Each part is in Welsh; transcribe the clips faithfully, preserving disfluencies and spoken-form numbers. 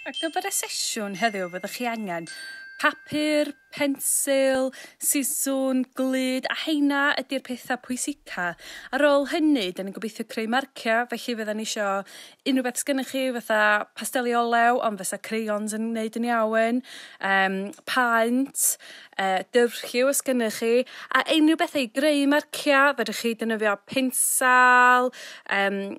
Ar gyfer y sesiwn heddiw fyddwch chi angen papur, pensil, siswrn, glud, a heina ydy'r pethau pwysica. Ar ôl hynny, da ni'n gobeithio creu marciau, felly fyddan ni isio unrhyw beth sgynnych chi, fatha pasteli olew, ond fysa crayons yn wneud yn iawn, um, paent, uh, dyfrlliw os gynnych chi, a unrhyw bethau i greu marciau, fedrwch chi defnyddio pensal, um,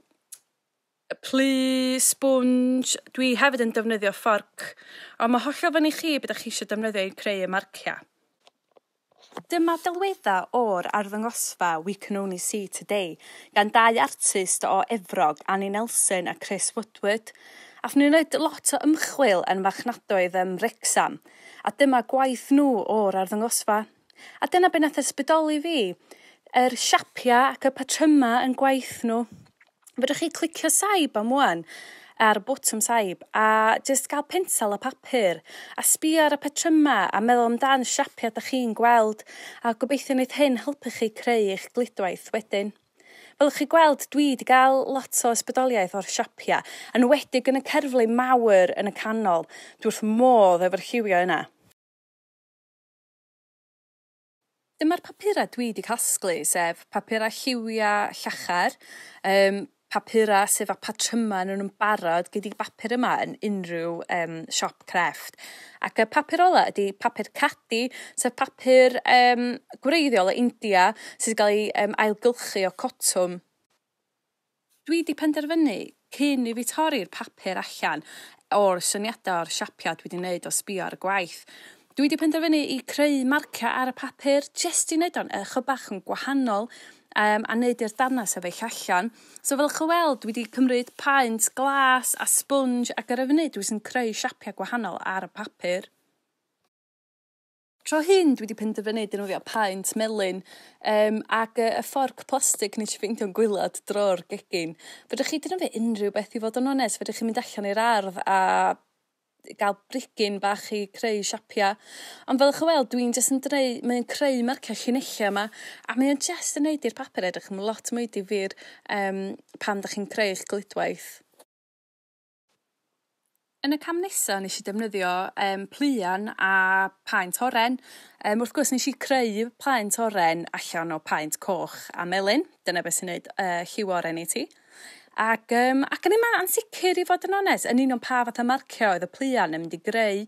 plu, sponge. Dwi hefyd yn defnyddio fforc, ond mae hollol fyny chi beth ydych chi eisiau defnyddio i creu y marciau. Dyma delweddau o'r arddangosfa We Can Only See Today gan dau artist o Efrog, Annie Nelson a Chris Woodward. Aethon nhw'n gwneud lot o ymchwil yn marchnadoedd ym Wrecsam, a dyma gwaith nhw o'r arddangosfa. A dyna be nath ysbrydoli fi, yr siapiau ac y patrymau yn gwaith nhw. Fedrwch chi clicio saib am wan ar y botwm saib a jyst gael pensel a papur a sbio ar y patrymau a meddwl amdan siapiau dach chi'n gweld, a gobeithio wneith hyn helpu chi creu eich gludwaith wedyn. Fel chi gweld, dwi wedi cael lot o ysbrydoliaeth o'r siapiau, yn enwedig yn y cerflun mawr yn y canol. Dwi wrth modd efo'r lliwiau yna. Dyma'r papurau dwi wedi casglu, sef papurau lliwiau llachar, um, papurau sydd â patrymau yn nhw'n barod, gei di bapur yma yn unrhyw um, siop crefft. Ac y papur ola ydy papur cadi, sef papur um, gwreiddiol o India sydd wedi cael ei um, ailgylchu o cotwm. Dwi wedi penderfynu cyn i fi torri'r papur allan o'r syniadau o'r siapiau dwi wedi wneud o sbio ar y gwaith. Dwi wedi penderfynu i creu marciau ar y papur jyst i wneud o'n ychydig bach yn gwahanol um, a wneud i'r darnau sefyll allan. So fel chi weld, dwi wedi cymryd paent glas a sponge ac ar y funud dwi sy'n creu siapiau gwahanol ar y papur. Tro hyn dwi wedi penderfynu defnyddio paent melyn um, ac y, y fforc plastig nes i ffeindio'n gwaelod drwy'r gegin. Fedrwch chi defnyddio unrhyw beth i fod yn onest, fedrwch chi mynd allan i'r ardd a gael brigyn bach i creu siapiau. Ond fel chi weld, dwi'n jyst yn dreu, mae'n creu marciau llinellau yma, a mae'n jyst yn neud i'r papur edrych yn lot mwy difyr um, pan dach chi'n creu eich gludwaith. Yn y cam nesaf nes i defnyddio um, pluan a paent oren. Um, wrth gwrs nes i creu paent oren allan o paent coch a melyn. Dyna beth sy'n neud uh, lliw oren i ti. Ac, um, ac yn yma ansicr i fod yn onest, yn union pa fath o marciau oedd y pluan yn mynd i greu.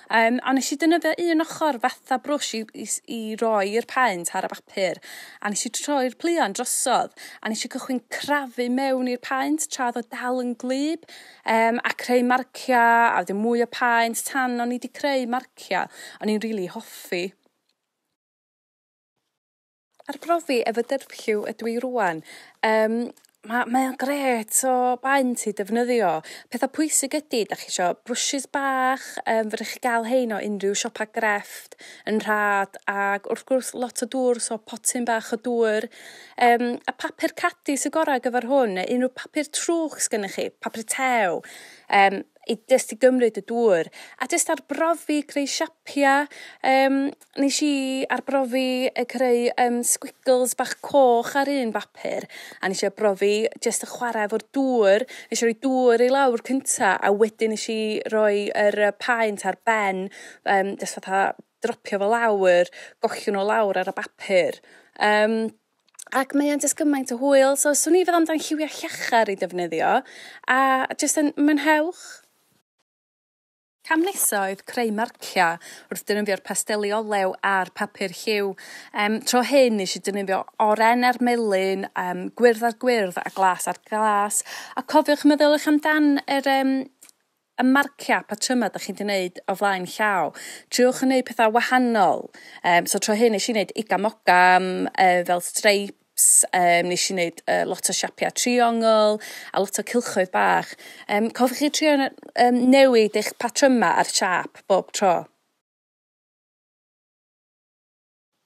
Um, a nes i defnyddio un ochr fatha brwsh i, i, i roi'r paent ar y bapur. A nes i troi'r pluan drosodd, a nes i cychwyn crafu mewn i'r paent tra oedd o dal yn gwlyb, um, a creu marciau, a wedyn mwy o paent tan o'n i wedi creu marciau. O'n i'n rili hoffi. Arbrofi efo dyrflliw ydw i rŵan. Um, Ma, mae o'n grêt o baent i defnyddio. Pethau pwysig ydy, da chi isio brwshys bach, um, fedrwch chi gael hein o unrhyw siopa grefft yn rhad, ac wrth gwrs lot o dŵr, so potyn bach o dŵr. Um, a papur cadi sy'n gorau ar gyfer hwn, neu unrhyw papur trwch sgynnych chi, papur tew, um, i jyst i gymryd y dŵr. A jyst arbrofi creu siapiau. Um, nes i arbrofi y creu um, squiggles bach coch ar un bapur. A nes i arbrofi jyst y chwarae efo'r dŵr. Nes i roi dŵr i lawr cynta, a wedyn nes i roi yr paent ar ben, um, jyst fatha dropio fo lawr, gollwng nhw lawr ar y bapur. Um, Ac mae o'n jyst gymaint o hwyl, so swn i feddwl amdan lliwiau llachar i defnyddio, a jyst yn mwynhewch. Cam nesa oedd creu marciau wrth defnyddio'r pasteli olew a'r papur lliw. Um, tro hyn nes i defnyddio oren ar melyn, um, gwyrdd ar gwyrdd a glas ar glas. A cofiwch meddylwch amdan yr, um, y marciau patrymau da chi'n gwneud o flaen llaw. Triwch yn gwneud pethau wahanol. Um, so tro hyn nes i wneud igam-ogam, uh, fel stripes, um, nes i wneud uh, lot o siapiau triongl a lot o cylchoedd bach. Um, cofiwch chi trio um, newid eich patrymau a'r siâp bob tro.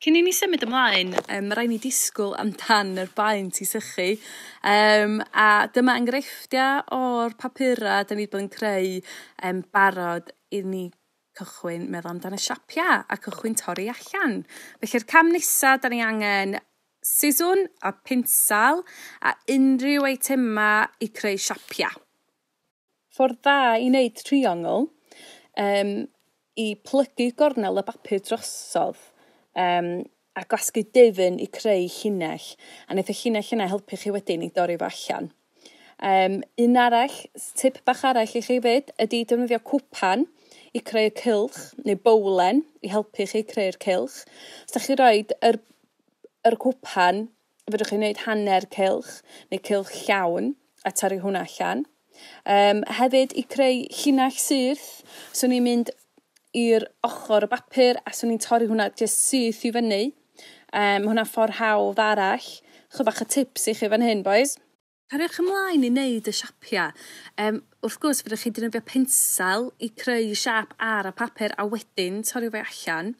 Cyn i ni symud ymlaen, um, mae rhaid ni disgwyl amdan yr baent i sychu. Um, a dyma enghreifftiau o'r papurau da ni wedi bod yn creu um, barod i ni cychwyn meddwl amdan y siapiau a cychwyn torri allan. Felly'r cam nesaf, da ni angen siswrn a pinsal a unrhyw eitemau i creu siapiau. Ffordd dda i wneud triongl, um, i plygu gornel y bapur drosodd um, a gwasgu dyfn i creu llinell. A wneith y llinell yna helpu chi wedyn i dorri fo allan. Um, un arall, tip bach arall i chi fyd, ydy defnyddio cwpan i creu cylch, neu bowlen i helpu chi creu'r cylch. Os da chi roed yr, yr cwpan, fedrwch chi wneud hanner cylch, neu cylch llawn, a torri hwnna allan. Um, hefyd i creu llinell syth, swn i'n mynd i'r ochr y bapur a swn i'n torri hwnna jyst syth i fyny. Um, hwnna ffordd hawdd arall. Chydig bach o tips i chi fan hyn, boys. Cariwch ymlaen i wneud y siapiau. Um, wrth gwrs, fedrwch chi defnyddio pensel i creu siap ar y papur a wedyn torri fe allan.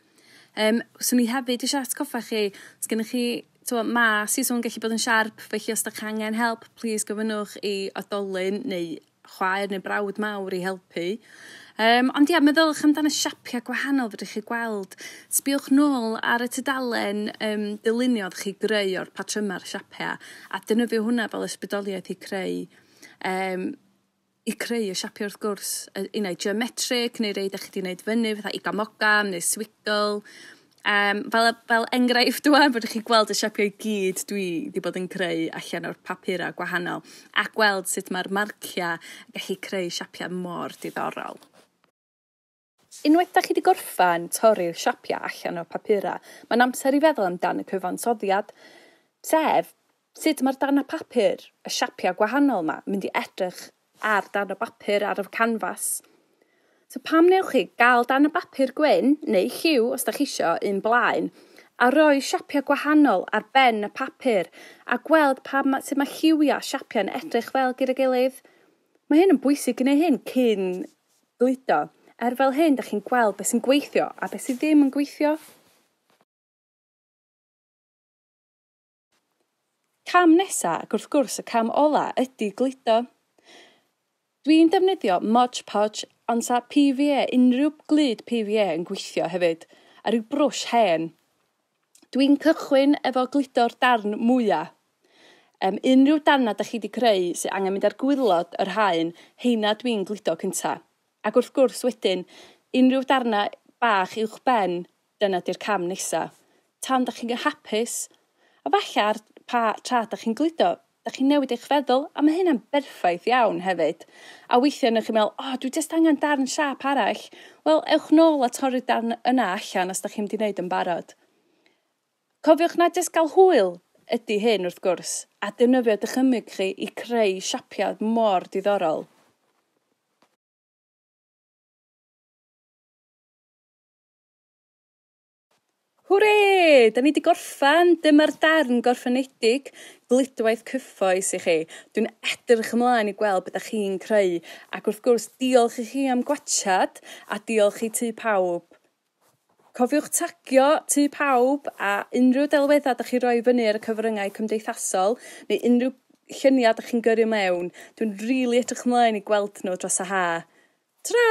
Um, swn i hefyd eisiau atgoffa chi, os gennych chi, t'mo, ma' siswrn gallu bod yn siarp, felly os ydych chi angen help, please gofynnwch i oedolyn neu chwaer neu brawd mawr i helpu. Um, ond ia, meddylwch amdan y siapiau gwahanol fedrwch chi gweld. Sbiwch nôl ar y tudalen um, dyluniodd chi greu o'r patryma'r siapiau a defnyddio hwnna fel ysbrydoliaeth i creu um, i creu y siapiau wrth gwrs. Unai geometric neu rei da chi wedi gwneud fyny, fatha igam-ogam neu squiggle. Um, fel, fel enghraifft ŵan, fedrwch chi gweld y siapiau i gyd dwi wedi bod yn creu allan o'r papurau gwahanol a gweld sut mae'r marciau yn gallu creu siapiau mor diddorol. Unwaith da chi wedi gorffan torri'r siapiau allan o'r papurau, mae'n amser i feddwl amdan y cyfansoddiad, sef sut mae'r darnau papur, y siapiau gwahanol yma, mynd i edrych ar darn o bapur ar y canfas. So pam newch chi gael darn o bapur gwyn, neu lliw os da chi isio, un blaen, a roi siapiau gwahanol ar ben y papur, a gweld pa ma, sut mae lliwiau siapiau'n edrych fel gyda'i gilydd. Mae hyn yn bwysig gwneud hyn cyn gludo. Er fel hyn, da chi'n gweld beth sy'n gweithio a beth sydd ddim yn gweithio. Cam nesa, ac wrth gwrs y cam ola, ydy gludo. Dwi'n defnyddio Mod Podge, ond sa P V A, unrhyw glud P V A yn gweithio hefyd, a rhyw brwsh hen. Dwi'n cychwyn efo gludo'r darn mwyaf. Um, unrhyw darna da chi wedi creu sy'n angen mynd ar gwaelod yr haen, heina dwi'n gludo cynta. Ac wrth gwrs wedyn, unrhyw darna bach uwch ben, dyna di'r cam nesa. Tan da chi'n hapus, a falle ar pa tra da chi'n gludo, da chi'n newid eich feddwl, a mae hynna'n berffaith iawn hefyd. A weithiau newch chi'n meddwl, o, oh, dwi jyst angen darn siâp arall. Wel, ewch nôl a torri'r darn yna allan os da chi'n mynd i wneud yn barod. Cofiwch na jyst gael hwyl ydy hyn wrth gwrs, a defnyddio dychymyg chi i creu siapiau mor diddorol. Hwre! Da ni wedi gorffan, dyma'r darn gorffenedig, gludwaith cyffroes i chi. Dwi'n edrych ymlaen i gweld beth ydych chi'n creu, ac wrth gwrs diolch i chi am gwatchad a diolch i Tŷ Pawb. Cofiwch tagio Tŷ Pawb a unrhyw delweddau ydych chi roi fyny ar y cyfryngau cymdeithasol neu unrhyw lluniau ydych chi'n gyrru mewn. Dwi'n rili edrych ymlaen i gweld nhw dros y ha. Tra!